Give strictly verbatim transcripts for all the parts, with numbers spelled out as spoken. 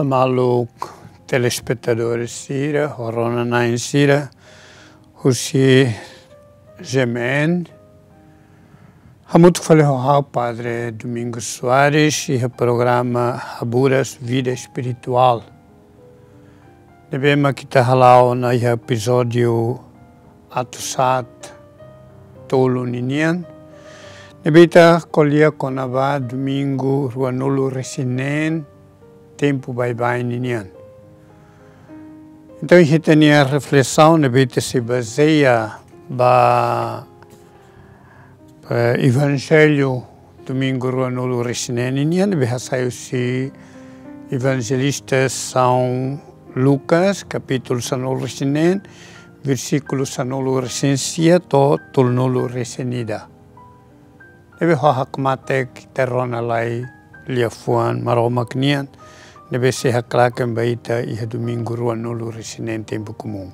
Maluk telespetadores sira, ho rona-na'in sira, husi G M N, hamutuk fali ho ha'u Padre Domingos Soares, iha programa Haburas Vida Espiritual. Ne'ebé mak ita hala'o ona iha epizódiu atus haat tolu ninian. Ne'ebé ita ko'alia kona-ba domingu ruanulu-resin-neen, tempu baibain ninian. Entaun, iha ita-nia reflesaun ne'ebé ita sei bazeia ba, eh, Evanjellu domingu ruanulu-resin-neen ninian, ne'ebé hasai husi Evanjelista São Lucas, kapítulu sanulu-resin-neen, versíkulu sanulu-resin-sia to'o tolunulu-resin-ida. Ne'ebé ho hakmatek ita rona lai liafuan Maromak nian, ne'ebé sei haklaken ba ita iha domingu ruanulu-resin-neen tempu komún.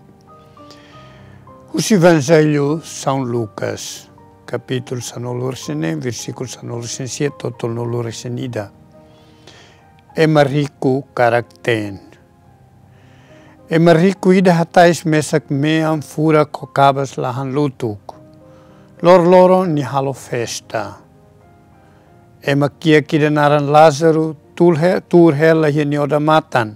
Husi Evanjellu São Lucas, kapítulu sanulu-resin-neen, versíkulu sanulu-resin-sia to'o tolunulu-resin-ida. Ema riku karak-teen. Ema riku ida hatais mesak mean furak ho kabas lahan lutuk. Loroloron nia halo festa. Ema kiak ida naran Lázaro tuur he-, tuur hela iha nia odamatan.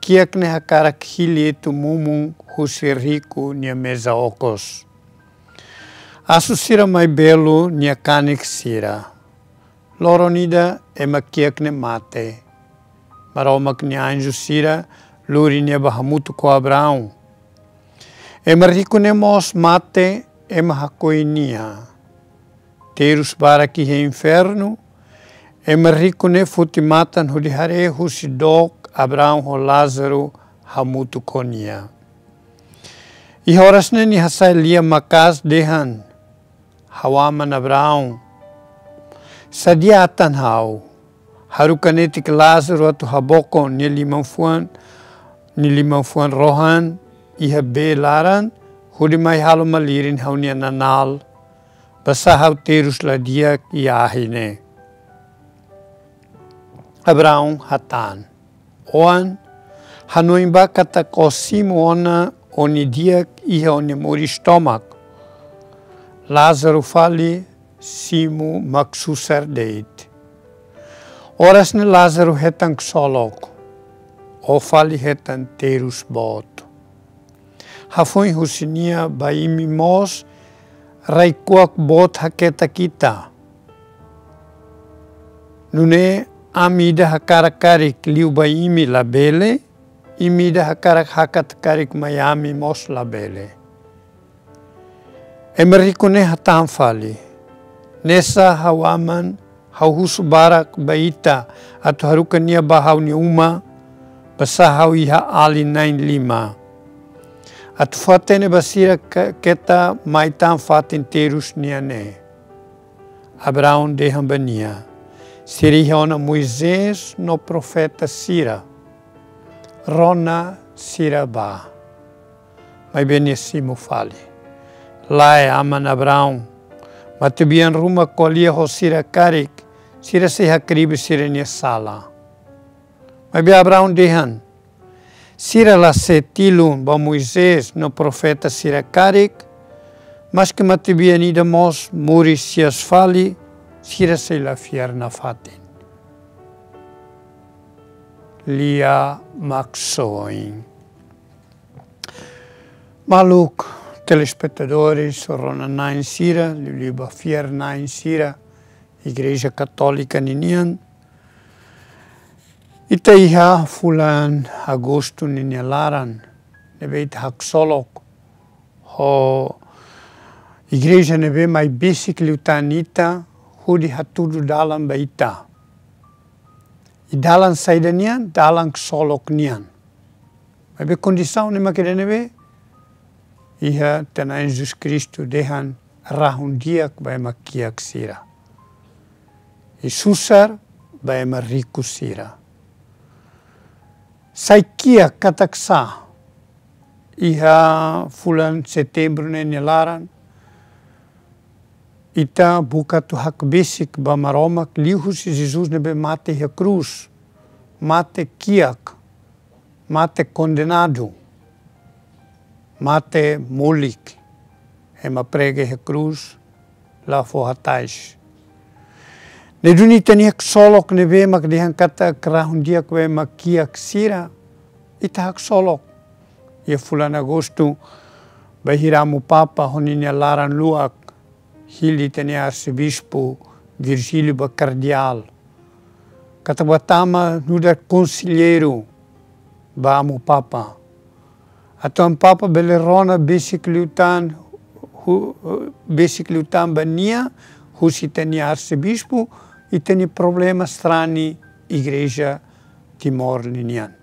Kiak ne'e hakarak hili etu mumun husi riku nia meza okos. Asu sira mai belu nia kanek sira. Loron ida ema kiak ne'e mate. Maromak nia anju sira lori nia ba hamutuk ho Abraão. Ema riku ne'e mós mate, ema hakoi nia. Terus barak iha infernu, ema riku ne'e foti matan hodi haree husi dook Abraão ho Lázaro hamutuk ho nia. Iha oras ne'e nia hasai lia maka'as dehan: Ha'u aman Abraão, sadia atan ha'u, haruka netik Lázaro atu habokon nia liman-fuan, nia liman-fuan rohan iha bee laran, hodi mai halo malirin ha'u-nia nanál, basá ha'u terus la di'ak iha ahi ne'e. Abraão hatán: Oan, hanoin bá katak ó simu ona ó-nia di'ak iha ó-nia moris tomak. Lázaro fali: Simu mak susar de'it. Oras ne'e Lázaro hetan ksolok. Ó fali hetan terus boot. Hafoin husi nia ba imi mós rai-kuak boot haketak ita. Nune'e ami ida hakarak karik liu ba imi labele, imi ida hakarak hakat karik mai ami mós labele. Ema riku ne'e hatán fali: Nesa ha'u aman, ha'u husu barak ba ita atu haruka nia ba ha'u-nia uma, basá ha'u iha alin na'in lima. Atu fó hatene ba sira ke-, keta mai tan fatin terus nian ne'e. Abraão dehan ba nia: Sira iha ona Moisés no profeta sira. Rona sira bá. Maibé nia simu fali: Lae, aman Abraão, matebian ruma ko'alia ho sira karik, sira sei hakribi sira-nia sala. Maibé Abraão dehan: Sira la sei tilun ba Moisés no profeta sira karik, maske matebian ida mós moris hi'as fali, sira sei la fiar nafatin. Lia Maksoin. Maluk telespetadores, rona-na'in sira, liuliu ba fiar-na'in sira Igreja Katólika ninian, ita iha fulan Agostu ninia laran, ne'ebé ita haksolok ho igreja ne'ebé mai besik liután ita, hodi hatudu dalan ba ita. I dalan saida nian? Dalan ksolok nian. Maibé kondisaun ne'e mak ida ne'ebé iha ita-nia Na'i Jesus Kristu dehan: Rahun-di'ak ba ema kiak sira, i susar ba ema riku sira. Sai kiak katak sá? Iha fulan Setembru ne'e nia laran, ita buka atu hakbesik ba Maromak liuhusi Jesus ne'ebé mate iha krús. mate kiak, mate kondenadu, mate molik, ema prega iha krús, la fó hatais. Ne'e duni ita-nia haksolok ne'ebé mak dehan katak rahun-di'ak ba ema kiak sira, ita haksolok. Iha fulan Agostu, bainhira Amu Papa ho ninia laran-luak hili ita-nia Arsebispu Virgílio ba Kardeál. Katak bá tama nu'udar konselleiru ba Amu Papa. Atu Amu Papa bele rona besik liután, hu-, besik liután ba nia, husi ita-nia Arsebispu, ita-nia problema strani Igreja Timor ninian.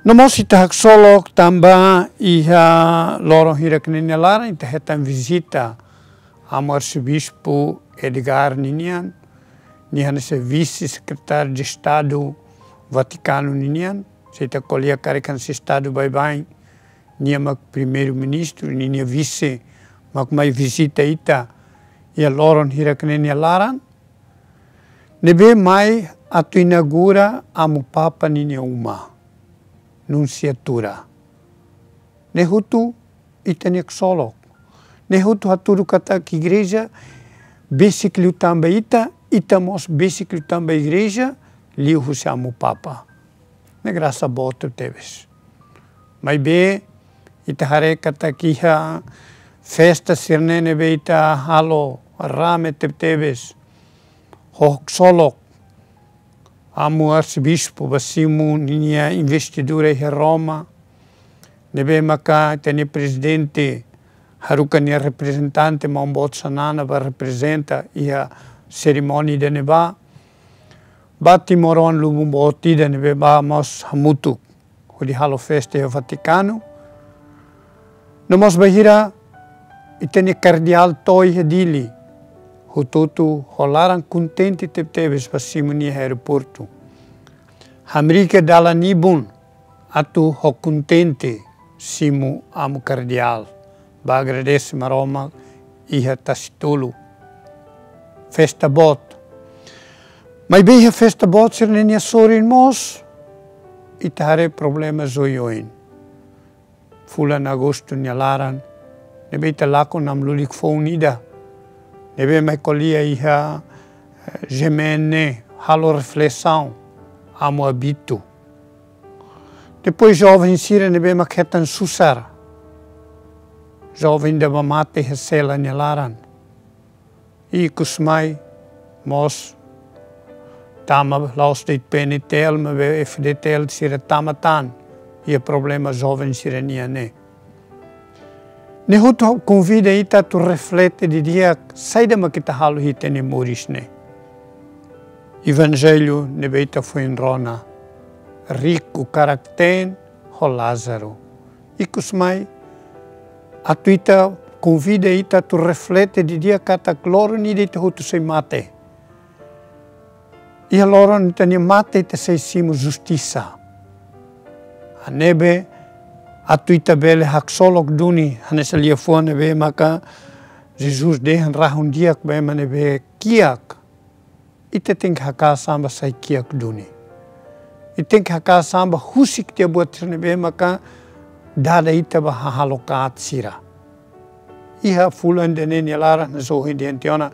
No mós ita haksolok tanba iha loron hirak ne'e nia laran ita hetan vizita Amu Arsebispu Edgar ninian, nia hanesan Vise-Sekretáriu de Estadu Vatikanu ninian, se ita ko'alia karik hanesan Estadu baibain, nia mak Primeiru-Ministru, ninia vise mak mai vizita ita iha loron hirak ne'e nia laran, ne'ebé mai atu inaugura Amu Papa ninia uma, Nunsiatura. Ne'e hotu ita-nia haksolok. Ne'e hotu hatudu katak Igreja besik liután ba ita, ita mós besik liután ba Igreja, liuhusi Amu Papa. Ne'e grasa boot tebes. Maibé, ita haree katak iha festa sira-ne'e ne'ebé ita halo rame tebetebes. Ho haksolok Amu Arsebispu bá simu ninia investidura iha Roma. Ne'ebé maka ita-nia Prezidente haruka nia reprezentante, Maun Boot Xanana, bá reprezenta iha serimónia ida-ne'ebá. Bá timoroan lubun boot ida ne'ebé bá mós hamutuk hodi halo festa iha Vatikanu. No mós bainhira ita-nia Kardeál to'o iha Dili, hotu-hotu ho laran kontente tebetebes bá simu nia iha aeroportu. Hamriik dalan ibun atu ho kontente simu Amu Kardeál, bá agradese Maromak iha Tasi Tolu. Festa boot. Maibé iha festa boot sira-ne'e nia sorin mós, ita haree problema oioin. Fulan Agostu nia laran, ne'ebé ita lakon namlulik foun ida, ne'ebé mai ko'alia iha, eh, G M N, halo reflesaun, Amu Abito. Depois joven sira ne'ebé mak hetan susar. Joven ida bá mate iha sela nia laran. Ikusmai mós tama la'ós de'it P N T L, maibé F D T L sira tama tan iha problema joven sira-nian ne'e. Ne'e hotu konvida ita atu reflete didi'ak saida mak ita halo iha ita-nia moris ne'e. Evanjellu ne'ebé ita foin rona, riku karak-teen ho Lázaru. Ikusmai, atu ita konvida ita atu reflete didi'ak katak loron ida ita hotu sei mate. Iha loron ita-nia mate ita sei simu justisa. Ne'ebé atu ita bele haksolok duni, hanesan liafuan ne'ebé maka Jesus dehan rahun-di'ak ba ema ne'ebé kiak. Ita tenke hakaas an bá sai kiak duni. Ita tenke hakaas an bá husik tiha buat sira ne'ebé maka dada ita bá hahalok aat sira. Iha fulan ida-ne'e nia laran, hanesan ohin dehan tiha ona,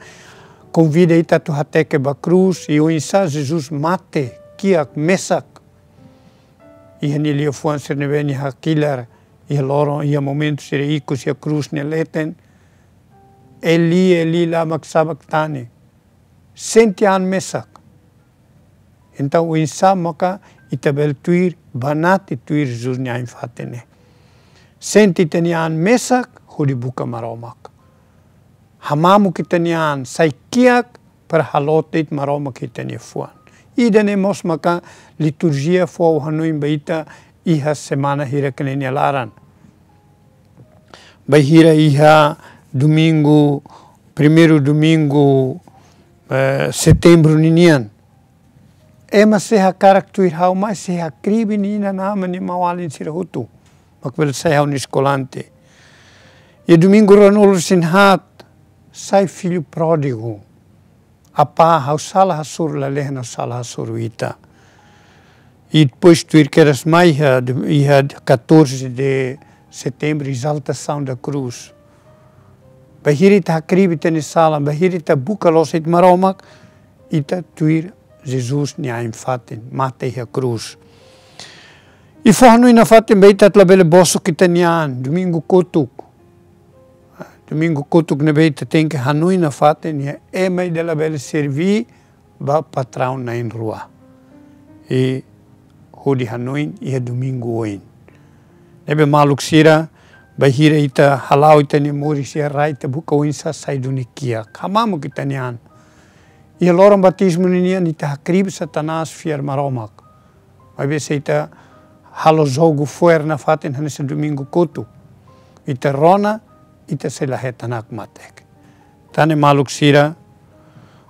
konvida ita atu hateke ba krús, i oinsá Jesus mate kiak mesak. Iha nia liafuan sira ne'ebé nia hakilar iha loron, iha momentu sira ikus iha krús nia leten. Eli, Eli, lama sabakhtani. Sente an mesak. Entaun, oinsá maka ita bele tuir, banati tuir Jesus nia ain-fatin ne'e. Sente ita-nia an mesak, hodi buka Maromak. Hamamuk ita-nia an, sai kiak, para halo de'it Maromak iha ita-nia fuan. Ida-ne'e mós maka liturjia fó hanoin ba ita iha semana hirak ne'e nia laran. Bainhira iha domingu, primeiru domingu, eh, setembru ninian. Ema sei hakarak tuir ha'u, mas sei hakribi nia inan-aman, nia maun-alin sira hotu. Mak bele sai ha'u-nia eskolante. Iha domingu ruanulu-resin-haat, sai filho pródigo. Apá, ha'u sala hasoru lalehan, ha'u sala hasoru ita. I depois tuir kedas mai iha, iha catorze de setembro, exaltação da cruz. Bainhira ita hakribi ita-nia sala, bainhira ita buka loos Maromak, ita tuir Jesus nia ain-fatin, mate iha krús. I fó hanoin nafatin ba ita atu labele bosok ita-nia an, domingu kotuk. Domingu kotuk ne'ebé ita tenke hanoin nafatin, ema ida labele serví ba patraun na'in-rua. I hodi hanoin iha domingu oin. Ne'ebé maluk sira, bainhira ita hala'o ita-nia moris iha rai, ita buka oinsá sai duni kiak. Hamamuk ita-nia an. Iha loron batizmu ninian ita hakribi Satanás, fiar Maromak. Maibé se ita halo jogu fo'er nafatin hanesan domingu kotuk, ita rona, ita sei la hetan hakmatek. Tan ne'e maluk sira,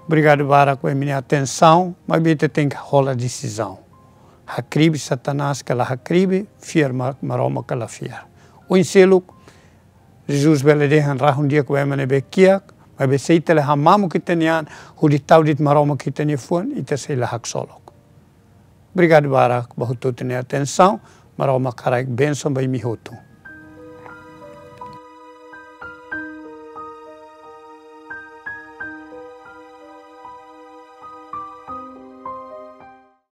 obrigadu barak ba imi-nia atensaun, maibé ita tenke hola desizaun. Hakribi Satanás ka la hakribi, fiar Ma-, Maromak ka la fiar. Oin seluk, Jesus bele dehan rahun di'ak ba ema ne'ebé kiak, maibé se ita la hamamuk ita-nia an, hodi tau de'it Maromak iha ita-nia fuan, ita sei la haksolok. Obrigadu barak ba hotu-hotu nia atensaun, Maromak haraik bensaun ba imi hotu.